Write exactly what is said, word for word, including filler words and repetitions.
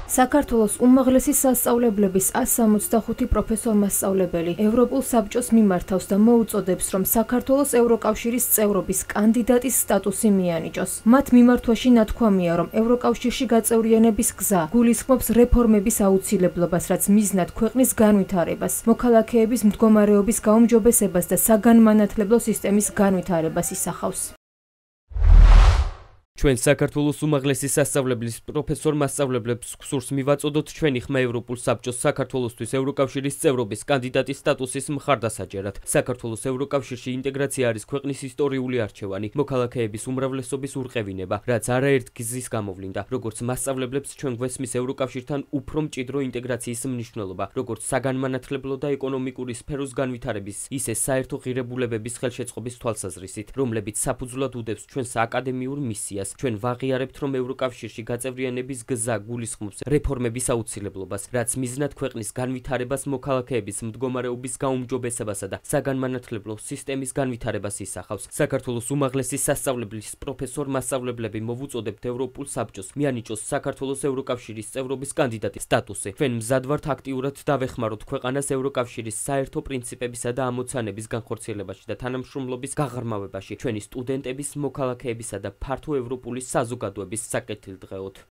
საქართველოს უმაღლესი სასწავლებლების ას სამოცდახუთი პროფესორ-მასწავლებელი ევროპულ საბჭოს მიმართავს და მოუწოდებს, რომ საქართველოს ევროკავშირის წევრობის კანდიდატის სტატუსი მიანიჭოს. მათ მიმართვაში ნათქვამია, რომ ევროკავშირში გაწევრიანების გზა გულისხმობს რეფორმების აუცილებლობას, რაც მიზნად ქვეყნის განვითარებას, მოქალაქეების მდგომარეობის გაუმჯობესებას და საგანმანათლებლო სისტემის განვითარებას ისახავს. ჩვენ საქართველოს უმაღლესი სასწავლებლის პროფესორ-მასწავლებლებს გსურს მივაწოდოთ ჩვენი ხმა ევროპულ საბჭოს საქართველოსთვის ევროკავშირის წევრობის კანდიდატის სტატუსის მხარდასაჭერად. საქართველოს ევროკავშირში ინტეგრაცია არის ქვეყნის ისტორიული არჩევანი, მოქალაქეების უმრავლესობის ურყევინება, რაც არაერთ გზის გამოვლინდა. როგორც მასწავლებლებს ჩვენ გვესმის ევროკავშირთან უფრო მჭიდრო ინტეგრაციის მნიშვნელობა, როგორც საგანმანათლებლო და ეკონომიკური სფეროს განვითარების, ისე საერთო ღირებულებების ხელშეწყობის თვალსაზრისით, რომლებიც საფუძვლად უდევს ჩვენს აკადემიურ მისიას. ჩვენ ვაღიარებთ, რომ ევროკავშირში გაწევრიანების გზა გულისხმობს რეფორმების აუცილებლობას, რაც მიზნად ქვეყნის განვითარებას, მოქალაქეების მდგომარეობის გაუმჯობესებასა და საგანმანათლებლო სისტემის განვითარებას ისახავს. საქართველოს უმაღლესი სასწავლებლის პროფესორ-მასწავლებლები მოვუწოდებთ ევროპულ საბჭოს მიანიჭოს საქართველოს ევროკავშირის წევრობის კანდიდატის სტატუსი. ჩვენ მზად ვართ აქტიურად დავეხმაროთ ქვეყანას ევროკავშირის საერთო პრინციპებისა და ამოცანების განხორციელებაში და თანამშრომლობის გაღრმავებაში ჩვენი სტუდენტების, მოქალაქეებისა და ფართო ევროპული საზოგადოების საკეთილდღეოდ.